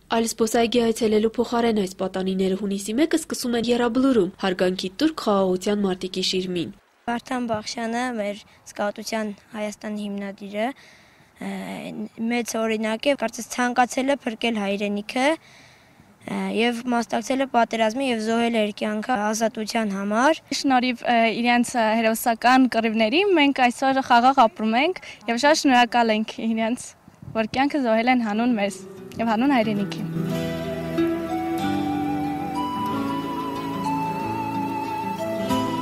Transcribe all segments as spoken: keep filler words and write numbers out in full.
Այլ զբօսայգի այցելելու փոխարէն այս պատանիները հունիսի մեկը սկսում են Եռաբլուրում, հարգանքի տուրք խաղաղության մարտիկի շիրմին։ Վարդան Բախշյանը մեր սկաուտության Հայաստանի հիմնադիրը, ը, մեծ օրինակ է, կարծես ցանկացել է փրկել հայրենիքը, ը, եւ մասնակցել է պատերազմի եւ զոհել է իր կյանքը ազատության համար։ Շնորհիվ, ը, իրենց, ը, հերոսական կռիվների մենք այսօր խաղաղ ապրում ենք եւ շատ շնորհակալ ենք իրենց, որ կյանքը զոհել են հանուն մեզ եւ հանուն հայրենիքի։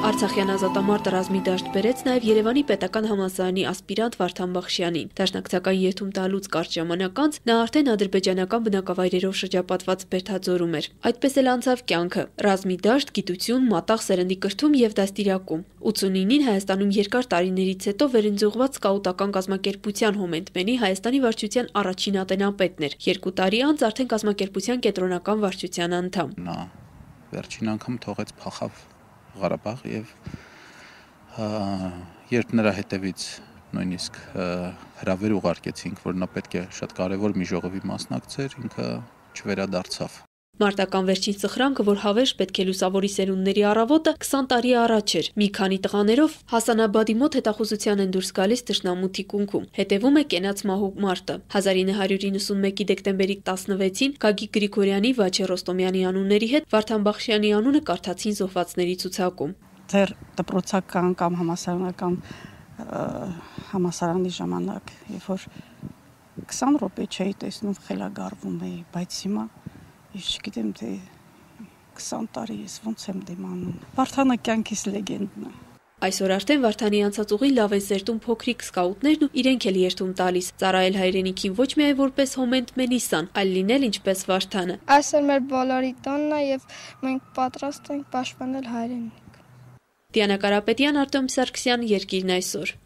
Արցախեան ազատամարտը ռազմի դաշտ բերեց նաեւ Երեւանի պետական համալսարանի ասպիրանտ Վարդան Բախշեանին։ Դաշնակցական երդում տալուց կարճ ժամանակ անց նա արդէն ադրբեջանական բնակավայրերով շրջապատված Բերդաձորում էր։ Այդպես էլ անցաւ կյանքը։ Ռազմի դաշտ, գիտություն, մատաղ սերնդի կրթում եւ դաստիարակում։ Ութսունինին Հայաստանում երկար տարիներից հետո վերընձուղված սկաուտական կազմակերպության Հոմենտմենի Հայաստանի վարչության առաջին ատենապետն էր։ Երկու տարի անց արդէն կազմակերպության կեդրոնական վարչության անդամ։ Նա վերջին անգամ թողեց փախավ Ղարաբաղ եւ, ա, երբ նրա հետևից նույնիսկ, ա, հրավեր ուղարկեցինք, որ նա պետք է շատ կարեւոր մի ժողովի մասնակցեր, ինքը չվերադարձավ։ Մարտական վերջին սխրանքը, որ հավերժ պետք է լուսավորի սերունդների առավոտը, քսան տարի առաջ էր։ Մի քանի տղաներով Հասանաբադի մոտ հետախուզության են դուրս գալիս թշնամու թիկունքում։ Հետևում է կենաց մահու մարտը։ Հազար ինը հարյուր իննսունմեկի դեկտեմբերի տասնվեցին Գագիկ Գրիգորյանի, Վաչե Ռոստոմյանի անունների հետ Վարդան Բախշեանի անունը կարդացին զոհվածների ցուցակում։ Դեռ դպրոցական կամ համալսարանական, ը, համալսարանի ժամանակ, երբ որ քսան րոպե չէի տեսնում, խելագարվում էի, բայց հիմա ես չգիտեմ, թե քսան տարի ես ոնց եմ դիմանում։ Վարդանը կյանքիս լեգենդն է։ Այսօր արդեն Վարդանի անցած ուղին լաւ են սերտում փոքրիկ սկաուտներն ու իրենք էլ երդում տալիս, ծառայել հայրենիքին ոչ միայն որպես Հոմենտմենի սան, այլ լինել ինչպես Վարդանը։ Այսօր մեր բոլորի տոնն է եւ մենք պատրաստ ենք պաշտպանել հայրենիք։ Դիանա Կարապետյան, Արտեմ Սարգսյան, Երկիրն այսօր։